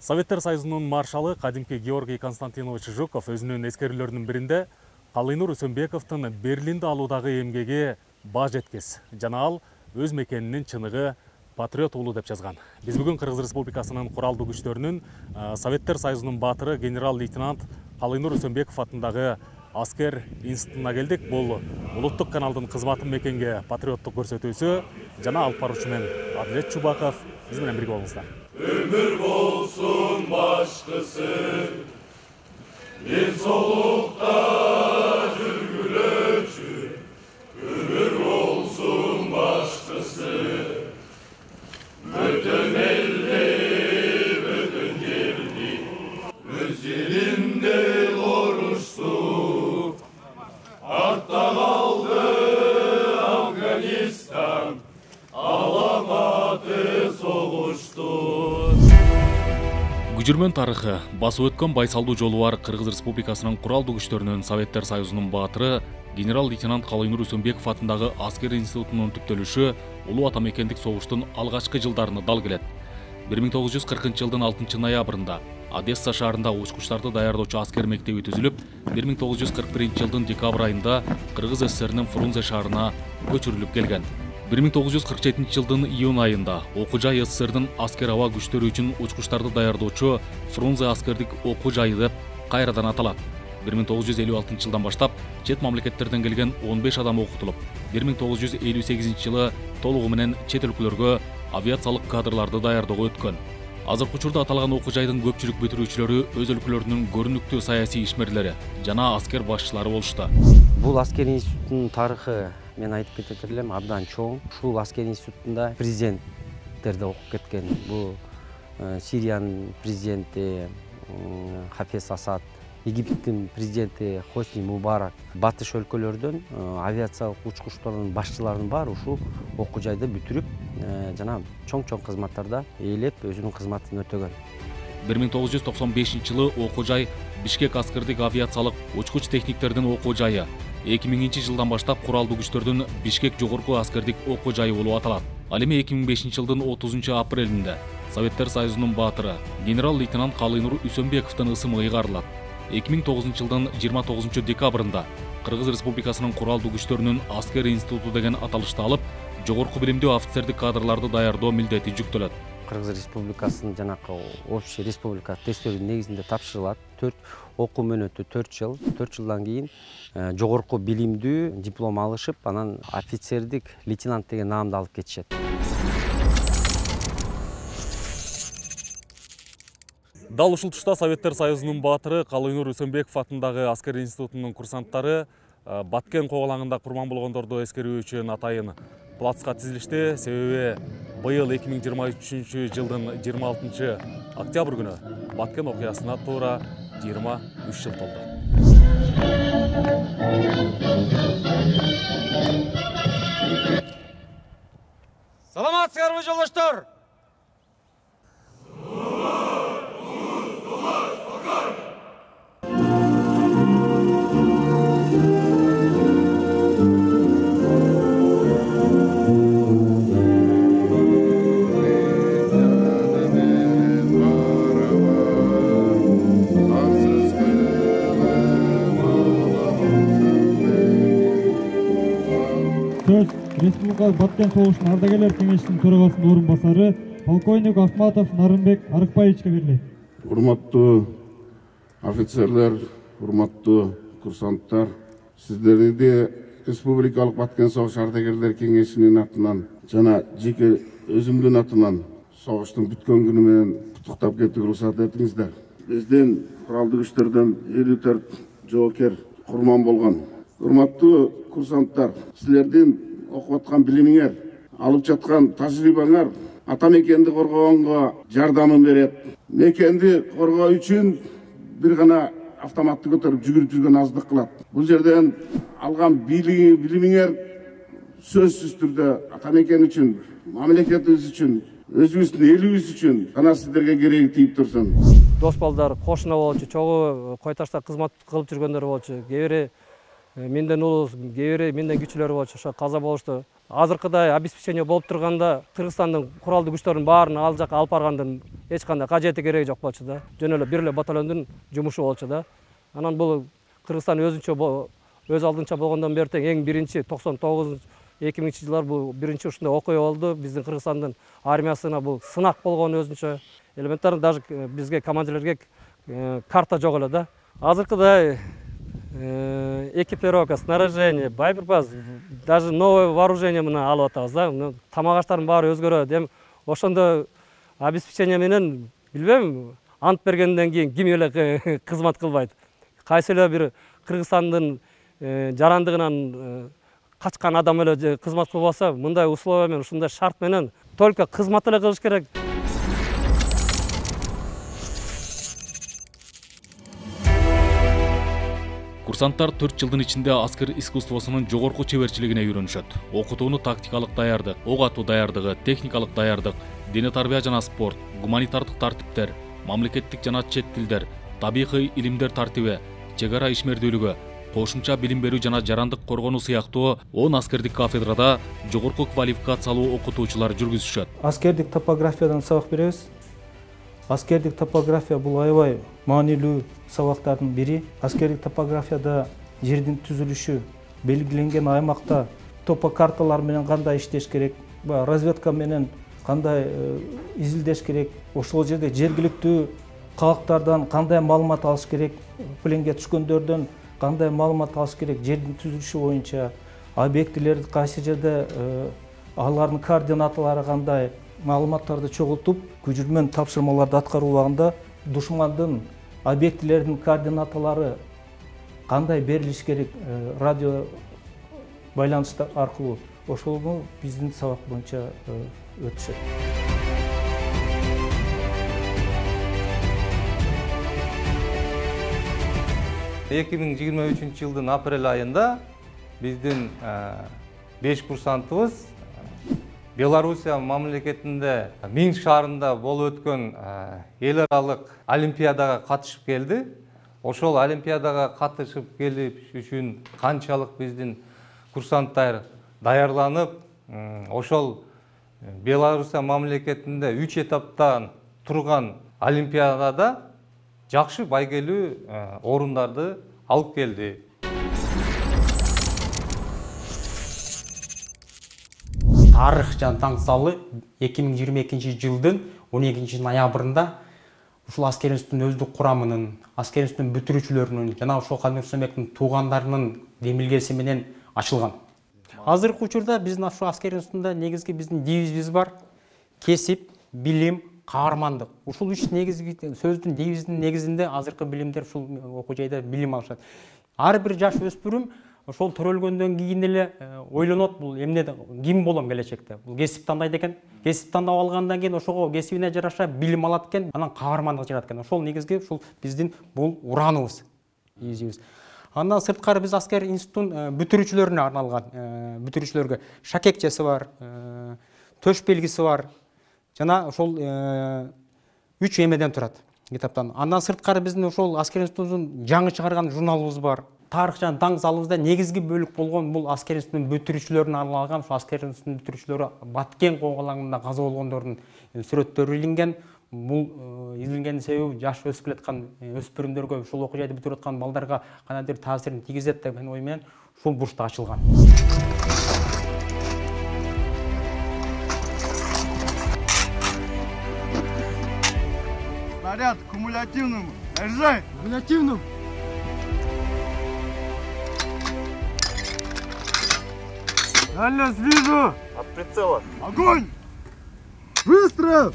Советтер Союзунун маршалы кадимки Георгий Константинович Жуков өзүнүн эскерүүлөрүнүн биринде Калыйнур Үсөнбековдун Берлинди алуудагы эмгеги баж жеткис жана ал өз мекенинин чыныгы патриот уулу деп жазган. Биз бүгүн Кыргыз Республикасынын куралдуу күчтөрүнүн Советтер Союзунун баатыры генерал-лейтенант Калыйнур Үсөнбеков атындагы аскер институтуна келдик. Бул улуттук каналдын кызматын мекенге патриоттук көрсөтүүсү жана алып баруучу мен Адилет Чубаков. Биз менен бирге болуңуздар. Ömür bolsun başkası, bir solukta жүргүлөчү. Ömür bolsun başkası, bötön elli, bötön yerdi, öz yerinde oruçtu. Artta kaldı Afganistan, alamadı soğuştu. Күчүрмөн тарыхы басып өткөн байсалдуу жолу бар Кыргыз Республикасынын куралдуу күчтөрүнүн Советтер Союзунун баатыры генерал-лейтенант Калыйнур Үсөнбеков атындагы аскер институтунун түптөлүшү улуу ата мекендик согуштун алгачкы жылдарына дал келет. 1940-жылдын 6-ноябрында Одесса шаарында учкучтарды даярдоочу аскер мектеби түзүлүп, 1941-жылдын декабрь айында Кыргыз ССРнин Фрунзе шаарына көчүрүлүп келген. 1947-жылдын июнь айында окуу жай СССРдин аскер аба күчтөрү үчүн учкучтарды даярдоочу Фрунзе аскердик окуу жайы деп кайрадан аталат. 1956-жылдан баштап чет мамлекеттерден келген 15 адам окутулуп, 1958-жылы толугу менен чет өлкөлөргө авиациялык кадрларды даярдоого өткөн. Азыркы учурда аталган окуу жайдын көпчүлүк бүтүрүүчүлөрү өз өлкөлөрүнүн көрүнүктүү саясий ишмерлери жана аскер башчылары болушту. Бул аскер институтунун тарыхы мен айтып кетет элем абдан чоң. Ушул аскер институтунда президенттерди окуп кеткен. Бул Сириянын президенти Хафез Асад, Египеттин президенти Хосни Мубарак, батыш өлкөлөрдөн авиациялык учкучтардын башчыларынын баары ушул окуу жайды бүтүрүп, жана чоң-чоң кызматтарда ээлеп өзүнүн кызматын өтөгөн. 1995-жылы окуу жай Бишкек аскердик авиациялык учкуч техниктердин окуу жайы, 2000-жылдан баштап куралдуу күчтөрдүн Бишкек жогорку аскердик окуу жайы болуп аталат. Ал эми 2005-жылдын 30-апрелинде Советтер Союзунун баатыры генерал-лейтенант Калыйнур Үсөнбековдун ысымы ыйгарылат. 2009-жылдын 29-декабрында Кыргыз Республикасынын куралдуу күчтөрүнүн аскер институту деген аталышты алып, жогорку билимдүү офицердик кадрларды даярдоо милдети жүктөлөт. Кыргыз Республикасынын жанакы общий республика тесттеринин негизинде тапшырылат. 4 окуу мөөнөтү 4 жыл. 4 жылдан кийин жогорку билимдүү диплом алышып, анан офицердик лейтенант деген наамды алып кетишет. Дал ушул тушта Советтер Союзунун баатыры Калыйнур Үсөнбеков атындагы аскер институтунун курсанттары Баткен коголаңында курман болгондорду эскерүү үчүн атайын плацка тизилишти. Себеби быйыл 2023-жылдын 26-октябрь күнү Баткен окуясына туура 23 жыл толду. Саламатсыздарбы жолдоштор? Республикалык Баткен согушунун ардагерлер кеңешинин төрагасынын орун басары полковник Ахматов Нарынбек Арыкбаевичке берилет. Урматтуу офицерлер, урматтуу курсанттар, сиздерди Республикалык Баткен согуш ардагерлер кеңешинин атынан жана жеке өзүмдүн атынан согуштун бүткөн күнү менен куттуктап кетүүгө уруксат этиңиздер. Биздин куралдуу күчтөрдөн 54 жоокер курман болгон. Урматтуу курсанттар, силердин окуп аткан билимиңер, алып жаткан тажрыйбаңар ата мекенди коргоонго жардамын берет. Мекенди коргоо үчүн бир гана автоматты көтөрүп жүгүрүп жүргөн аздык кылат. Бул жерден алган билимиңер сөзсүз түрдө ата мекен үчүн, мамлекетибиз үчүн, өзүбүздүн элибиз үчүн гана сиздерге кереги тийип турсун. Дос балдар кошуна болчу, чогуу кой ташта кызмат кылып жүргөндөр болчу. Кээ бири менден улуу, кээ бири менден күчүлөр болчу, ошо каза болушту. Азыркыдай обеспечение болуп турганда Кыргызстандын куралдуу күчтөрүнүн баарын ал жака алып баргандын эч кандай кажети кереги жок болчу да. Жөн эле бир эле батальондун жумушу болчу да. Анан бул Кыргызстан өз алдынча болгондон бери тең эң биринчи 99-2000 жылдар бул биринчи ушундай окуя болду. Биздин Кыргызстандын армиясына бул сынак болгон өзүнчө. Элементарно даже бизге командирлерге карта жок эле да. Азыркыдай экипировка, снаряжение, боеприпас, даже новое вооружение менен алып атабыз да. Тамак аштардын баары өзгөрөт. Эми ошондо обеспечение менен билбейм, ант бергенден кийин ким эле кызмат кылбайт. Кайсы эле бир Кыргызстандын жарандыгынан качкан адам эле кызмат кылбаса, мындай условия менен, ушундай шарт менен только кызмат эле кылыш керек. Курсанттар 4 жылдын ичинде аскер искусствосунун жогорку чеберчилигине үйрөнүшөт. Окутууну тактикалык даярдык, ок атуу даярдыгы, техникалык даярдык, дене тарбия жана спорт, гуманитардык тартиптер, мамлекеттик жана чет тилдер, табигый илимдер тартиби, чек ара ишмердүүлүгү, кошумча билим берүү жана жарандык коргонуу сыяктуу 10 аскердик кафедрада жогорку квалификациялуу окутуучулар жүргүзүшөт. Аскердик топографиядан сабак беребиз. Аскердик топография бул аябай маанилүү сабактардын бири. Аскердик топографияда жердин түзүлүшү, белгиленген аймакта топокарталар менен кандай иштеш керек, разведка менен кандай изилдеш керек, ошол жерде жергиликтүү калктардан кандай маалымат алыш керек, пленге түшкөндөрдөн кандай маалымат алыш керек, жердин түзүлүшү боюнча, объектилерди кайсы жерде, алардын координаталары кандай, маалыматтарды чогултуп, күчүрмөн тапшырмаларды аткаруу убагында душмандын объектилердин координаталары кандай берилиш керек, радио байланыштар аркылуу, ошону биздин сабак боюнча өтүшөт. 2023 жылдын апрель айында биздин 5 курсантыбыз Белоруссия мамлекетинде Минск шаарында болуп өткөн эл аралык олимпиадага катышып келди. Ошол олимпиадага катышып келип үчүн канчалык биздин курсанттар даярланып, ошол Белоруссия мамлекетинде 3 этаптан турган олимпиадада жакшы байгелүү орундарды алып келди. Тарых жана таң залы 2022 жылдын 12 ноябрында ушул аскер институтунун өздүк курамынын, аскер институтунун бүтүрүүчүлөрүнүн жана ошол Кадыр Рүстөмбектин туугандарынын демилгеси менен ачылган. Азыркы учурда биздин ушул аскер институтунда негизги биздин девизибиз бар: кесип, билим, каармандык. Ушул үч негизги сөздүн девиздин негизинде азыркы билимдер ушул окуу жайда билим алышат. Ар бир жаш өспүрүм ошол төрөлгөндөн кийин эле ойлонот, бул эмне ким болом келечекте. Бул кесип тандайт экен. Кесип тандап алгандан кийин ошого кесибине жараша билим алат экен, анан каармандык жыгат экен. Ошол негизги ушул биздин бул ураныбыз, изибиз. Андан сырткары биз аскер институтунун бүтүрүүчүлөрүнө арналган, бүтүрүүчүлөргө шакекчеси бар, төш белгиси бар. Жана ошол 3 эмеден турат китаптан. Андан сырткары биздин ошол аскер институтунун жаңы чыгарган журналыбыз бар. Тарых жана таң залыбызда негизги бөлүк болгон бул аскер институтунун бүтүрүүчүлөрүнө арналган, ошол аскер институтунун бүтүрүүчүлөрү Баткен коголаңында каза болгондордун сүрөттөрү илинген. Бул изилгендин себеби жаш өсүп келаткан өспүрүмдөргө, ушул окуу жайды бүтүрүп аткан балдарга кандайдыр таасирин тийгизет деген ой менен ушул бурчта ачылган. Снаряд кумулятивному. Заряжай! Кумулятивному. Дальность вижу! От прицела. Огонь! Выстрел!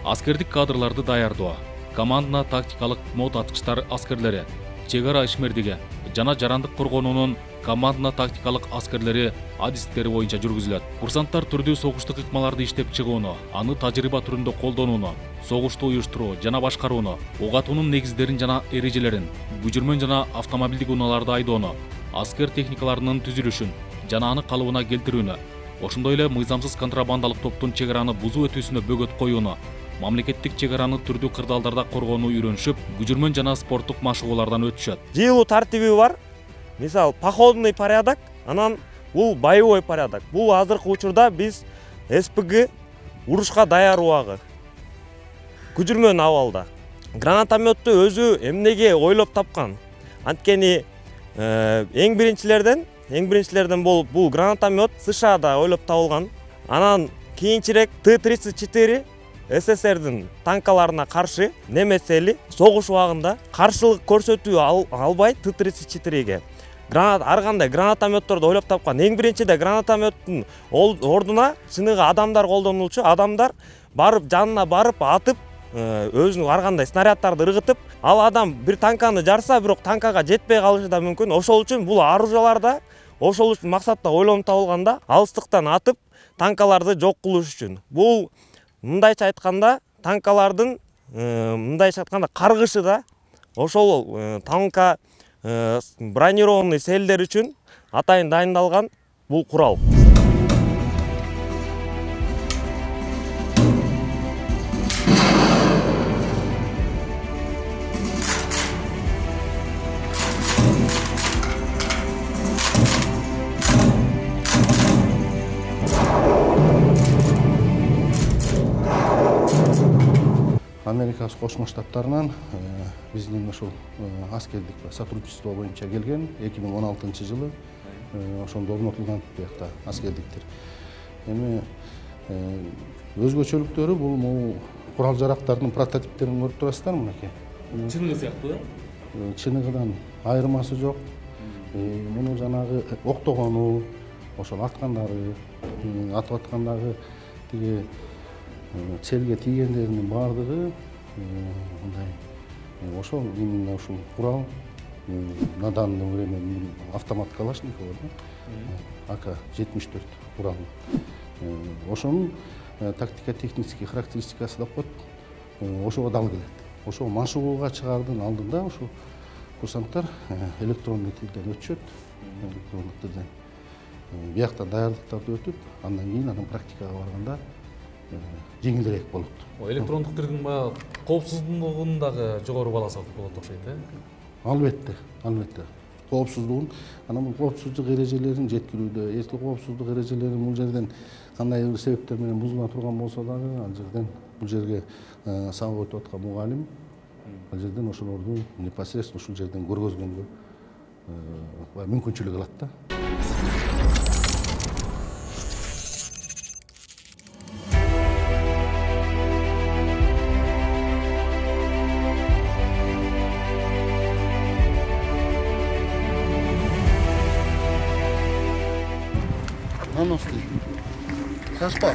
Аскердик кадрларды даярдоо, командна тактикалык мод аткычтар аскерлери, чек ара ишмердиги жана жарандык коргонуунун командна тактикалык аскерлери адистиктери боюнча жүргүзүлөт. Курсанттар түрдүү согуштук ыкмаларды иштеп чыгууну, аны тажрыйба түрүндө колдонууну, согушту уюштуруу жана башкарууну, ок атуунун негиздерин жана эрежелерин, күчүрмөн жана автомобилдик унааларды айдоону, аскер техникаларынын түзүлүшүн жана аны калыбына келтирүүнү, ошондой эле мыйзамсыз контрабандалык топтун чек араны бузуу өтүүсүнө бөгөт коюуну, мамлекеттик чек араны түрдүү кырдаалдарда коргонууну үйрөнүшүп, күчүрмөн жана спорттук машыгуулардан өтүшөт. Жыйылуу тартиби бар. мисалы походный порядок, анан бул боевой порядок. Бул азыркы учурда биз СПГ урушка даяр убагы. Күжүрмөн абалда. Гранатометту өзү эмнеге ойлоп тапкан? Анткени эң биринчилерден бул гранатомет США-да ойлоп табылган. Анан кийинчерээк Т-34 СССРдин танкаларына каршы немецели согуш убагында каршылык көрсөтүү албай Т-34ге ар кандай гранатометторду ойлоп тапкан. Эң биринчиде гранатометтин ордуна чыныгы адамдар колдонулчу. Адамдар барып жанына барып атып, өзүнүн ар кандай снаряддарды ыргытып, ал адам бир танканы жарса, бирок танкага жетпей калышы да мүмкүн. Ошол үчүн бул оружияларда ошол үчүн максатта ойлонуп табылганда, алыстыктан атып танкаларды жок кылыш үчүн. Бул мындайча айтканда танкалардын каргышы да ошол танка бронированный селдер үчүн атайын дайындалган бул курал. Америка Кошмо Штаттарынан биздин ошол аскердик сотрудничество боюнча келген 2016-жылы ошондо орнотулган биякта аскердиктер. Эми өзгөчөлүктөрү бул курал жарактардын прототиптерин көрүп турасыздар мынакей. Чыныгы сыяктуу да? Чыныгыдан айырмасы жок. Муну жанагы октогону, ошол аткандары, атып аткандагы тиги целге тийгендеринин баардыгы мындай ошол именно ушул курал на данное время автомат Калашникова, АК-74 курал. Ошонун тактико-технический характеристикасы деп коет. Ошого дал келет. Ошол машыгууга чыгаардын алдында ошол курсанттар электрондук тилден өтүшөт. Электрондук тилден биякта даярдыктарды өтүп, андан кийин анын практикага барганда жеңилирээк болот. Электрондук тилдин баягы коопсуздугун дагы жогору баласа болот окшойт, Албетте. Коопсуздугун, анан бул коопсуздук эрежелерин жеткирүүдө, эски коопсуздук эрежелерин бул жерден кандай бир себептер менен бузула турган болсо дагы, ал жерден бул жерге сабак өтүп аткан мугалим ал жерден ошолорду непосредственно ушул жерден көргөзгөнгө мүмкүнчүлүк алат да. Наности. Каспар.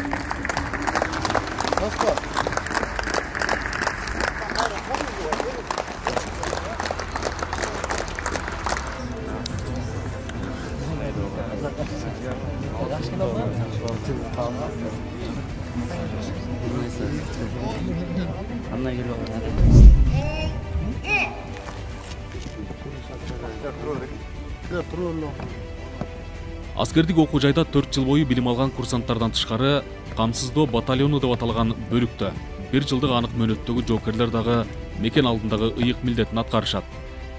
Аскердик окуу жайда 4 жыл бою билим алган курсанттардан тышкары камсыздоо батальону деп аталган бөлүктө 1 жылдык анык мөөнөттөгү жоокерлер дагы мекен алдындагы ыйык милдетин аткарышат.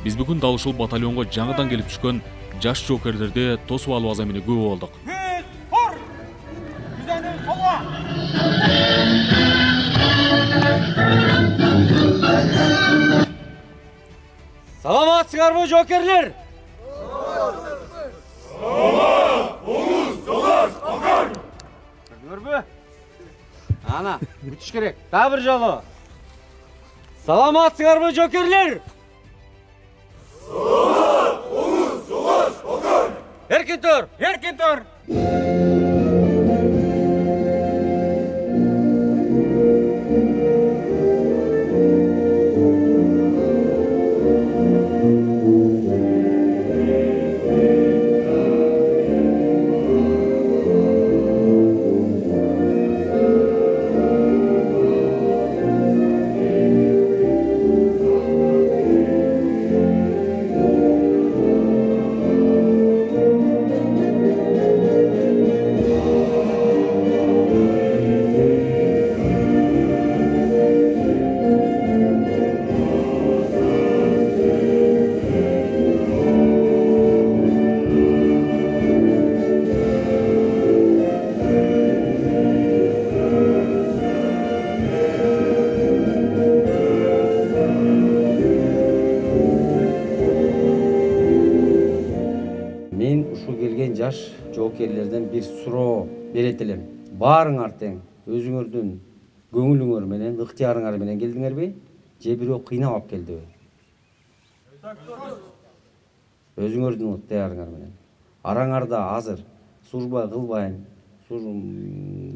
Биз бүгүн дал ушул батальонго жаңыдан келип түшкөн жаш жоокерлерди тосуп алуу азамине күбө болдук. Саламатсыздарбы, жоокерлер? Көрбү? Ана, бүтүш керек. Дагы бир жолу. Саламатсыздарбы, жоокерлер? Эркин тур. келген жаш жоокерлерден бир суроо берет элем. Баарыңар тең өзүңөрдүн көңүлүңөр менен, ыктыярыңар менен келдиңерби? Же бирөө кыйнап алып келдиби? Өзүңөрдүн ыктыярыңар менен. Араңарда азыр служба кылбайм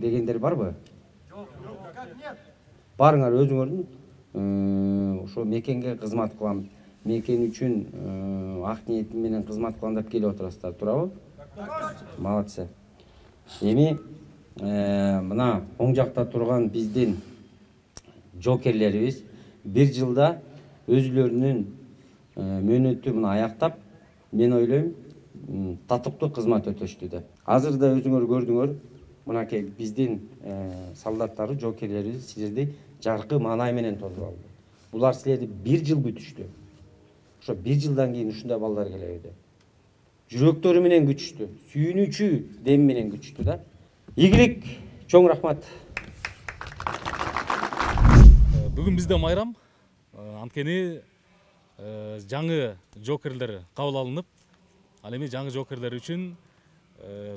дегендер барбы? Баарыңар өзүңөрдүн ошо мекенге кызмат кылам, мекен үчүн ак ниетим менен кызмат кылам деп келип отурасыздар, туурабы? Молодцы. Эми мына оң жакта турган биздин жоокерлерибиз бир жылда өзүлөрүнүн мөөнөтү мына аяктап, мен ойлойм, татыктуу кызмат өтөштү деп. Азыр да өзүңөр көрдүңөр, мынакей биздин солдаттары, жоокерлерибиз силерди жаркы маанай менен тосуп алды. Булар силерди бир жыл күтүштү. Ошо бир жылдан кийин ушундай балдар келеби деп. Жүрөктөрү менен күтүштү, сүйүнүүчү дем менен күтүштү да. Ийгилик, чоң рахмат. Бүгүн бизде майрам. Анткени жаңы жоокерлер кабыл алынып, ал эми жаңы жоокерлер үчүн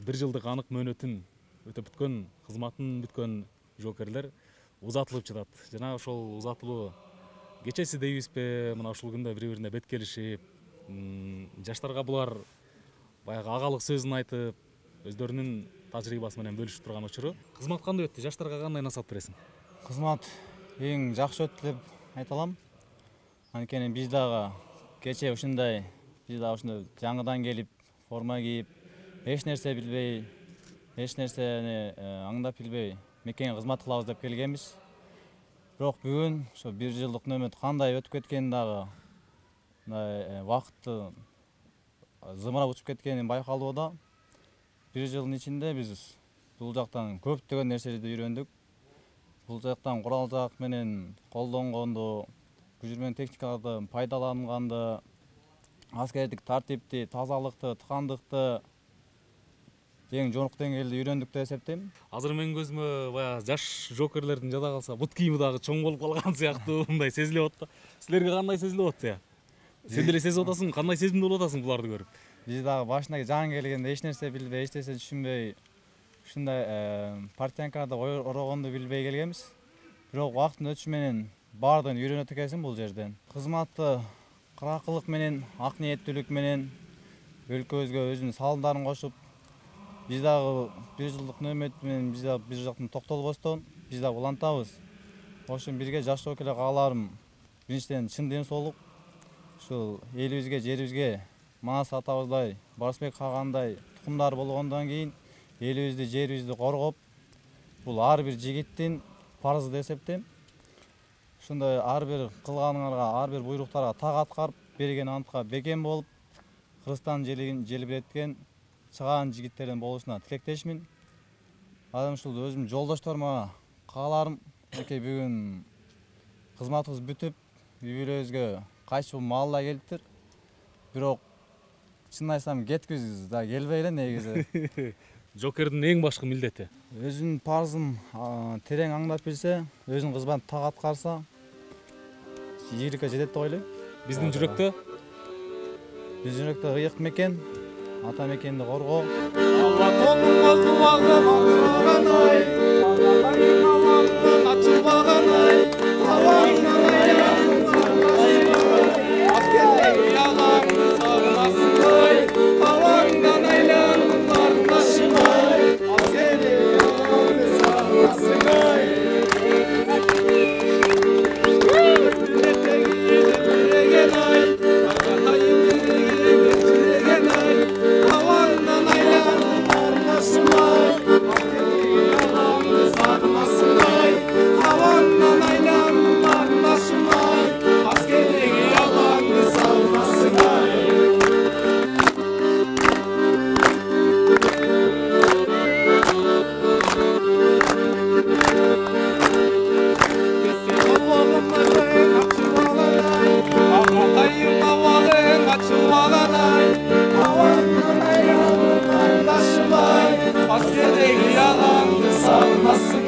бир жылдык анык мөөнөтүн өтөп бүткөн, кызматын бүткөн жоокерлер узатылып жатат. Жана ошол узатылуу кечеси дейбизби, мына ушул күндө бири-бирине бет келишип, жаштарга булар баягы агалык сөзүн айтып, өздөрүнүн тажрыйбасы менен бөлүшүп турган учуру. Кызмат кандай өттү? Жаштарга кандай насаат бересиң? Кызмат эң жакшы өттү деп айта алам. Анткени биз дагы кече ушундай, жаңыдан келип, форма кийип, эч нерсе билбей, эч нерсени аңдап билбей мекенге кызмат кылабыз деп келгенбиз. Бирок бүгүн ошо бир жылдык нөмөт кандай өтүп кеткенин дагы, убакытты зымырап учуп кеткени байкалууда. Бир жылдын ичинде биз бул жактан көптөгөн нерселерди үйрөндүк. Бул жактан курал жак менен колдонгонду, күчүрмөн техникаларды пайдаланганды, аскердик тартипти, тазалыкты, тыкандыкты эң жогорку деңгээлде үйрөндүк деп эсептейм. Азыр менин көзүмө баягы жаш жоокерлердин жада калса бут кийими дагы чоң болуп калган сыяктуу мындай сезилип атат да. Силерге кандай сезилип атат? Сен деле сезип атасың, кандай сезимде болуп атасың буларды көрүп? Биз дагы башында жаңы келгенде эч нерсе билбей, эч нерсе түшүнбөй, ушундай партиянкада орогонду билбей келгенбиз. Бирок убакыттын өтүшү менен баардыгын үйрөнөт экенсиң бул жерден. Кызматты кыракылык менен, ак ниеттүүлүк менен өлкөбүзгө өзүнүн салымдарын кошуп, биз дагы бир жылдык нөмөт менен биз дагы бир жактан токтолбостон, биз дагы улантабыз. Ошон бирге жаш жоокерлер кааларым, биринчиден чын ден соолук, ушул элибизге, жерибизге Манас атабыздай, Барысбек кагандай тукумдар болгондон кийин элибизди, жерибизди коргоп, бул ар бир жигиттин парызы деп эсептейм. Ушундай ар бир кылганыңарга, ар бир буйруктарга так аткарып, берген антка бекем болуп, Кыргызстан желбиреткен чыгаан жигиттерден болушуна тилектешмин. Анан ушул өзүм жолдошторума кааларым, бүгүн кызматыбыз бүтүп, үй-бүлөбүзгө кайтып маалда келиптир. Бирок чын айтсам кеткибиз да келбей эле негизи. Жоокердин эң башкы милдети өзүнүн парызын терең аңдап билсе, өзүнүн кызматын так аткарса, ийгиликке жетет деп ойлойм. Биздин жүрөктө ыйык мекен, ата мекенди коргоо. Askerdeki yalandı sarmasın